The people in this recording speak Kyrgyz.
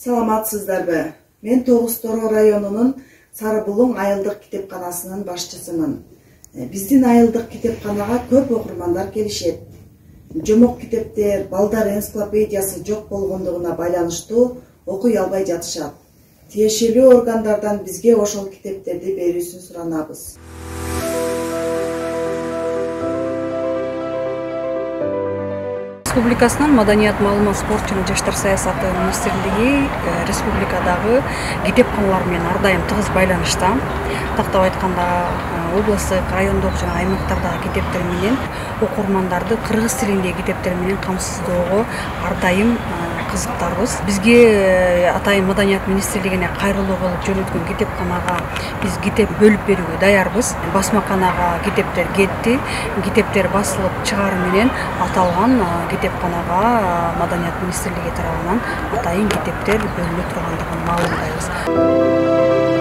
Саламатсыздарбы? Мен Тогуз Тороо районунун Сары Булуң айылдык китепканасынын башчысымын. Биздин айылдык китепканага көп окурмандар келишет. Жомок китептер, балдар энциклопедиясы жок болгондугуна байланыштуу окуй албай жатышат. Тиешелүү органдардан бизге ошол китептерди берүүсүн суранабыз. Республикасынын Маданият, маалымат, спорт жана жаштар саясаты министрлиги республикадагы китепканалар менен ар дайым тыгыз байланышта. Тактап айтканда, областтык, райондук жана аймактардагы китептер менен окурмандарды кыргыз тилиндеги китептер менен камсыздоого ар дайым кызыктарбыз. Бизге атайын Маданият министрлигине кайрылуу болуп жөнөткөн китепканага биз китеп бөлүп берүүгө даярбыз. Басмаканага китептер кетти. Китептер басылып чыгаары менен аталган китепканага Маданият министрлиги тарабынан атайын китептер бөлүнө тургандыгын маалымдайбыз.